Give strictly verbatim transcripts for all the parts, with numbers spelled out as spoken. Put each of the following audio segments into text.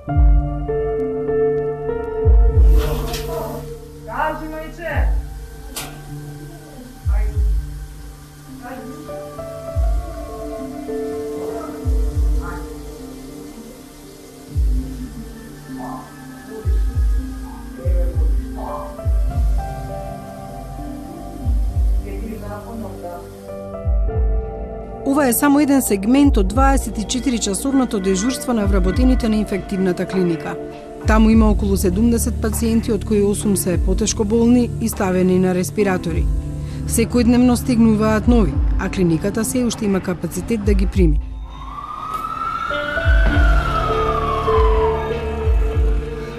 Кажи, мајче! Ова е само еден сегмент од дваесет и четири часовното дежурство на вработените на инфективната клиника. Таму има околу седумдесет пациенти, од кои осум се потешко болни и ставени на респиратори. Секојдневно стигнуваат нови, а клиниката се уште има капацитет да ги прими.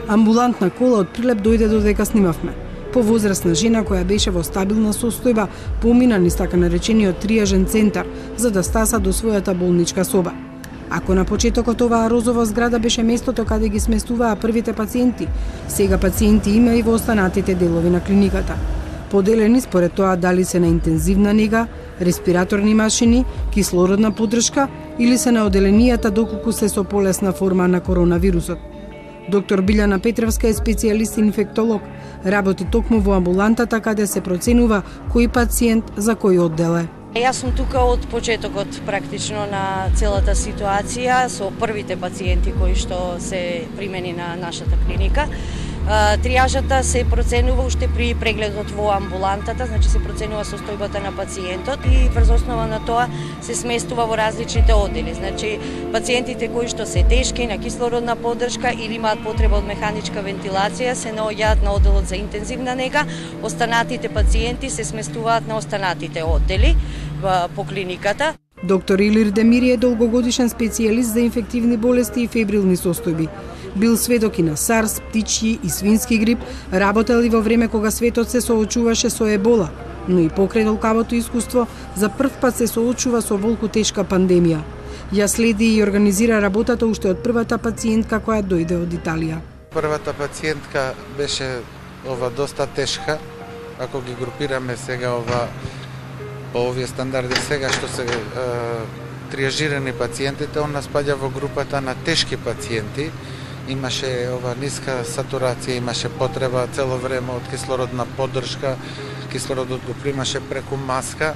Амбулантна кола од Прилеп дојде додека снимавме. Повозрасна жена која беше во стабилна состојба помина низ така наречениот триажен центар за да стаса до својата болничка соба. Ако на почетокот оваа розова зграда беше местото каде ги сместуваа првите пациенти, сега пациенти има и во останатите делови на клиниката. Поделени според тоа дали се на интензивна нега, респираторни машини, кислородна поддршка или се на оделенијата доколку се со полесна форма на коронавирусот. Доктор Билјана Петревска е специјалист инфектолог, работи токму во амбулантата каде се проценува кој пациент за кој оддел е. Јас сум тука од почетокот практично на целата ситуација со првите пациенти кои што се примени на нашата клиника. Триажата се проценува уште при прегледот во амбулантата, значи се проценува состојбата на пациентот и врз основа на тоа се сместува во различните оддели. Значи пациентите кои што се тешки на кислородна поддршка или имаат потреба од механичка вентилација се наоѓаат на одделот за интензивна нега, останатите пациенти се сместуваат на останатите оддели по клиниката. Доктор Илир Демири е долгогодишен специјалист за инфективни болести и фебрилни состојби. Бил сведок и на сарс, птичји и свински грип, работел и во време кога светот се соочуваше со ебола, но и покрај толкавото искуство, за прв пат се соочува со волку тешка пандемија. Ја следи и организира работата уште од првата пациентка која дојде од Италија. Првата пациентка беше ова доста тешка, ако ги групираме сега ова по овие стандарди сега што се е, триажирани пациентите, она спаѓа во групата на тешки пациенти. Имаше ова ниска сатурација, имаше потреба цело време од кислородна поддршка, кислородот го примаше преку маска.